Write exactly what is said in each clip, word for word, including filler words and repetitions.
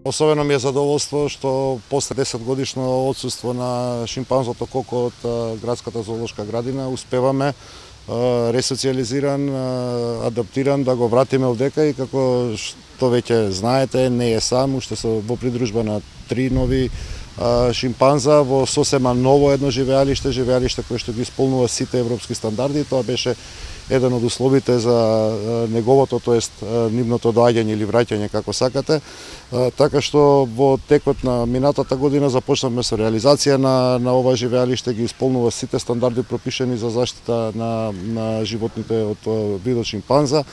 Особено ми е задоволство што после десет годишно отсуство на шимпанзото Коко од градската зоолошка градина успеваме ресоциализиран, адаптиран да го вратиме овдека, и како што веќе знаете, не е сам, уште се во придружба на три нови шимпанза во сосема ново едно живеалиште, живеалиште кое што ги исполнува сите европски стандарди. Тоа беше еден од условите за неговото, тоест нивното доаѓање или враќање, како сакате. Така што во текот на минатата година започнавме со реализација на, на ова живеалиште, ги исполнува сите стандарди пропишани за заштита на, на животните од видот шимпанза.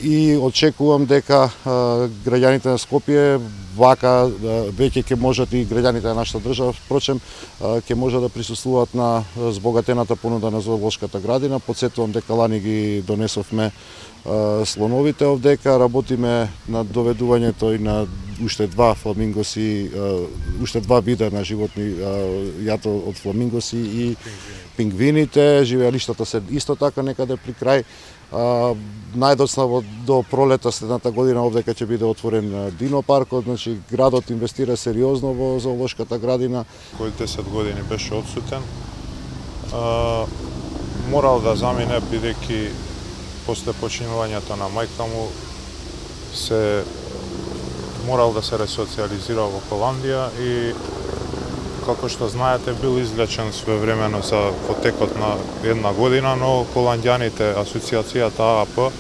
И очекувам дека граѓаните на Скопје вака веќе ќе можат, и граѓаните на нашата држава, впрочем, ќе можат да присуствуваат на збогатената понуда на зоолошката градина. Подсетувам дека лани ги донесовме слоновите овдека, работиме на доведувањето и на уште два фламингоси, уште два вида на животни јато од фламингоси и пингвините. Живеалиштата се исто така некаде при крај. Uh, најдоцна до пролета следната година овдека ќе биде отворен динопаркот, значи градот инвестира сериозно во зоолошката градина. Кој десет години беше отсутен, uh, морал да замине бидејќи после починувањето на мајка му се морал да се ресоциализира во Холандија и како што знаете, бил излечен своевремено за потекот на една година, но холандјаните, асоциацијата А А П,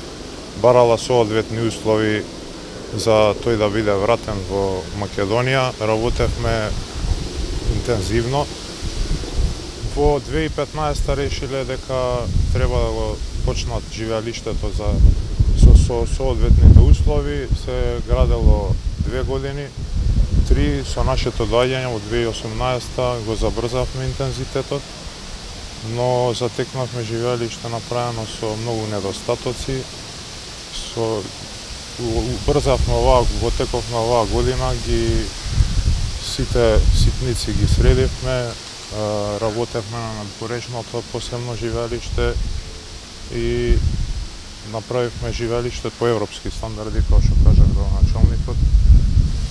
барала соодветни услови за тој да биде вратен во Македонија. Работевме интензивно. Во две илјади и петнаесета решиле дека треба да го почнат живеалиштето за со, со соодветните услови. Се градело две години. Три, со нашето доаѓање во две илјади и осумнаесета го забрзавме интензитетот, но затекнавме живеалиште направено со многу недостатоци. Со убрзавме оваа, во теков на оваа година ги сите ситници ги средивме, работевме на надпорешното посебно живеалиште и направивме живеалиште по европски стандарди, како што кажав градоначалникот,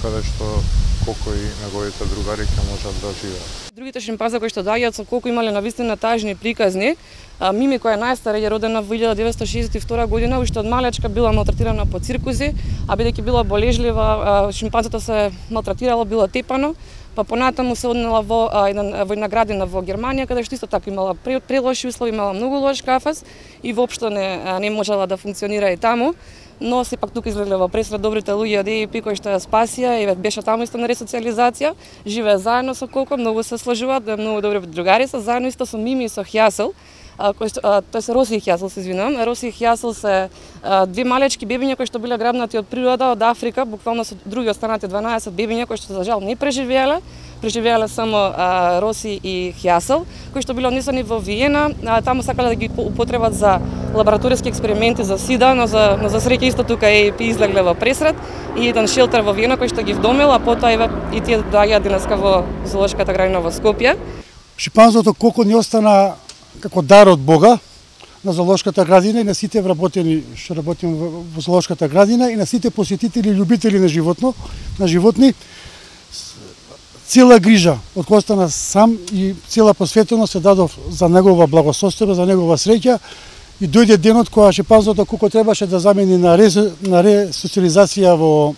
каде што Коко и неговите другари ќе можат да живеат. Другите шимпанзи кои што доаѓаат со Коко имале навистина тажни приказни. Мими, која е најстара, е родена во илјада деветстотини шеесет и втора година, уште од малечка била малтретирана по циркузи, а бидејќи била болежлива, шимпанзото се малтретирало, било тепано, па понатаму се однела во една, во една градина во Германија, каде што исто така имала прелоши услови, имала многу лош кафез и воопшто не, не можела да функционира и таму. Но сепак тука излегле во пресред добрите луѓе од Е И Пи кои што ја спасија и беше таму исто на ресоциализација, живее заедно со Коко, многу се сложуваат, многу добри другари се, заедно исто со Мими и со Хјасел, кои што, тој се Роси и Хјасел, се извинувам. Роси и Хјасел се две малечки бебиња кои што биле грабнати од природа, од Африка, буквално со други останати дванаесет бебиња кои што за жал не преживеале. Преживеале само а, Роси и Хјасел, кои што биле однесени во Виена, а, таму сакале да ги употребат за лабораториски експерименти за сида, но за, но за среќа исто тука Е И Пи излегле во пресред и еден шелтер во Виена кој што ги вдомил, а потоа и тие доаѓаат денеска во зоолошката градина во Скопје. Шимпанзото Коко не остана како дар од Бога на зоолошката градина и на сите вработени што работиме во зоолошката градина и на сите посетители и љубители на животно, на животни. Цела грижа од која остана сам и цела посветеност се дадов за негова благосостојба, за негова среќа, и дојде денот кога шимпанзото Коко требаше да замени на, рез, на ресоциализација во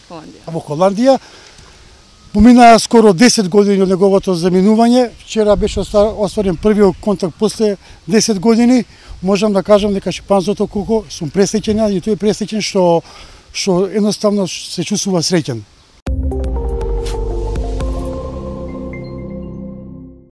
Холандија. во Холандија. Поминаа скоро десет години од неговото заминување. Вчера беше остварен првиот контакт после десет години. Можам да кажам дека шимпанзото Коко сум пресреќен и тој е пресреќен што што едноставно се чувствува среќен.